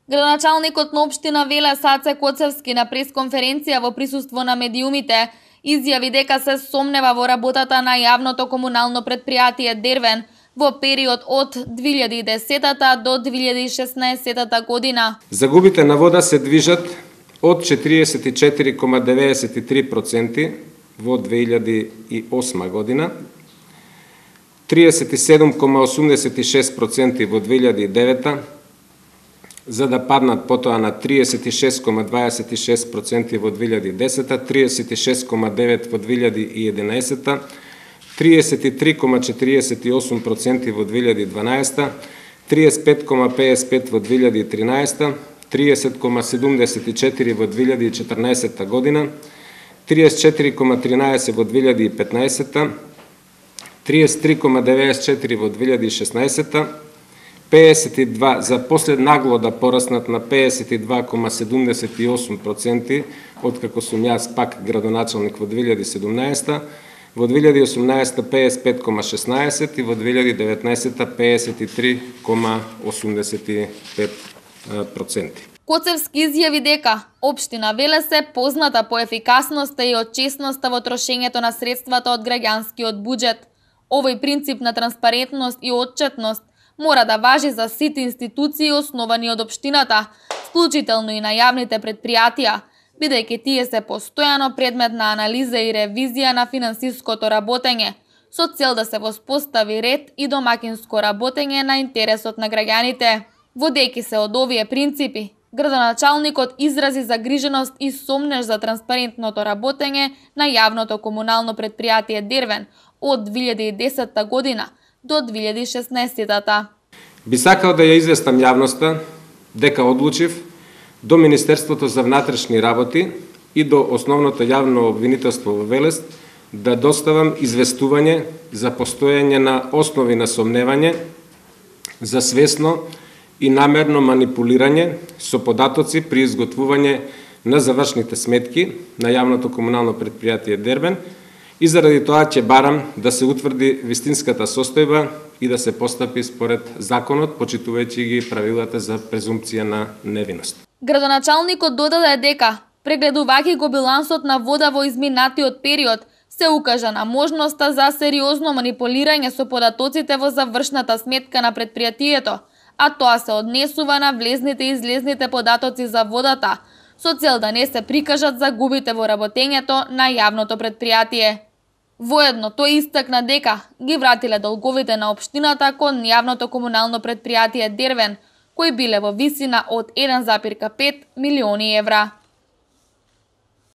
Градоначалникот на општина Велес Аце Коцевски на пресконференција во присуство на медиумите изјави дека се сомнева во работата на јавното комунално претпријатие Дервен во период од 2010 до 2016 година. Загубите на вода се движат од 44,93% во 2008 година, 37,86% во 2009, за да паднат потоа на 36,26% во 2010, 36,9% во 2011, 33,48% во 2012, 35,55% во 2013, 30,74% во 2014 година, 34,13% во 2015, 33,94% во 2016, 52 за после нагло да пораснат на 52,78% откако сум јас пак градоначалник во 2017, во 2018 55,16% и во 2019 53,85%. Коцевски изјави дека општина Велес е позната по ефикасноста и од честноста во трошењето на средствата од граѓанскиот буџет. Овој принцип на транспарентност и отчетност мора да важи за сите институции основани од општината, вклучително и на јавните претпријатија, бидејќи тие се постојано предмет на анализа и ревизија на финансиското работење, со цел да се воспостави ред и домакинско работење на интересот на граѓаните. Водејќи се од овие принципи, градоначалникот изрази загриженост и сомнеж за транспарентното работење на јавното комунално претпријатие Дервен од 2010 година до 2016. Би сакал да ја известам јавноста дека одлучив до Министерството за внатрешни работи и до Основното јавно обвинителство во Велес да доставам известување за постојање на основи на сомневање за свесно и намерно манипулирање со податоци при изготвување на завршните сметки на јавното комунално претпријатие Дервен и заради тоа ќе барам да се утврди вистинската состојба и да се постапи според законот, почитувајќи ги правилата за презумпција на невиност. Градоначалникот додаде дека, прегледувајќи го билансот на вода во изминатиот период, се укажа на можноста за сериозно манипулирање со податоците во завршната сметка на претпријатието, а тоа се однесува на влезните и излезните податоци за водата, со цел да не се прикажат загубите во работењето на јавното претпријатие. Воедно тој истакна дека ги вратиле долговите на општината кон јавното комунално претпријатие Дервен, кои биле во висина од 1,5 милиони евра.